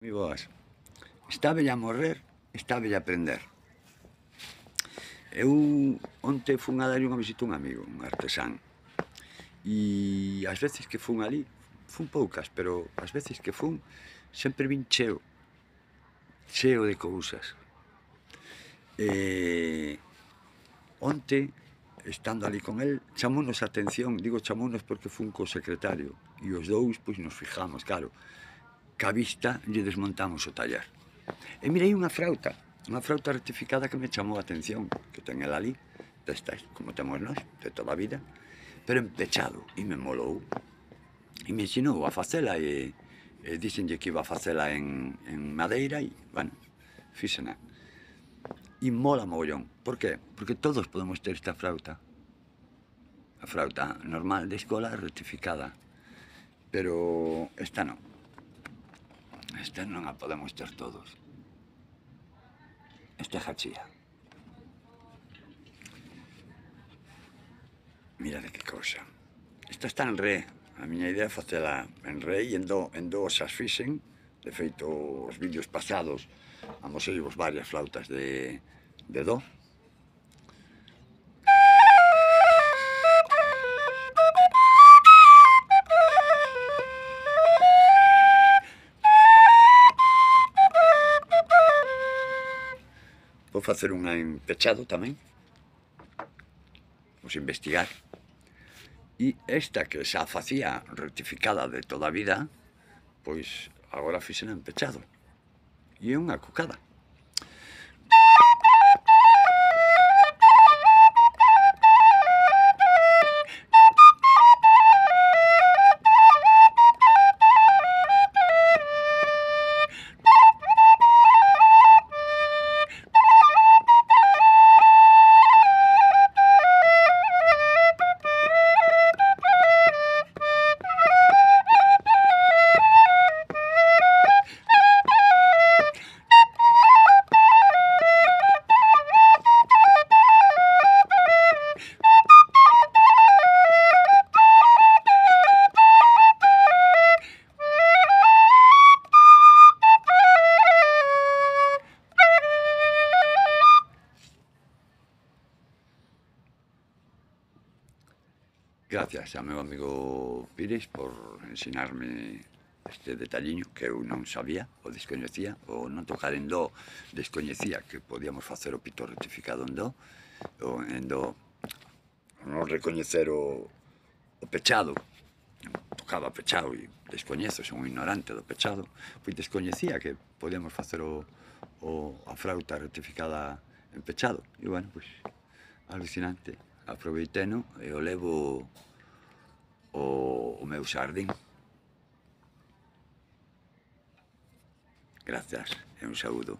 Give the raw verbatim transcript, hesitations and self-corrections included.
Moi boas. Está bella morrer, está bella aprender. Eu onte fun a darlle unha visita a un amigo, un artesán. E as veces que fun ali, fun poucas, pero as veces que fun, sempre vin cheo. Cheo de cousas. E onte, estando ali con el, chamounos a atención, digo chamounos porque fun co secretario, e os dous, pois, nos fijamos, claro, que a vista lle desmontamos o taller. E mirei unha frauta, unha frauta rectificada que me chamou a atención, que ten el ali, destas, como temos nós, de toda a vida, pero empechado, e me molou. E me ensinou a facela, e, e díxenlle que iba a facela en, en madeira, e, bueno, fixena. E mola mogollón. Por que? Porque todos podemos ter esta frauta. A frauta normal de escola rectificada, pero esta non. Esta non a podemos ter todos. Esta é jachía. Mira de que cousa. Esta está en ré. A miña idea é facela en ré e en do, en do xa as fixen. De feito, os vídeos pasados amoseivos varias flautas de, de do. Vou facer unha en pechado tamén. Vamos investigar. E esta que xa facía rectificada de toda a vida, pois agora fixena en pechado. E é unha cucada. Gracias ao meu amigo Pires por ensinarme este detalliño que eu non sabía, ou descoñecía, ou non tocar en do, descoñecía que podíamos facer o pito rectificado en do, ou en do, non recoñecer o, o pechado, tocaba pechado e descoñezo, son un ignorante do pechado, pois descoñecía que podíamos facer o, o, a frauta rectificada en pechado, e bueno, pois, alucinante. Aproveiteno e o levo o, o meu xardín. Gracias e un saúdo.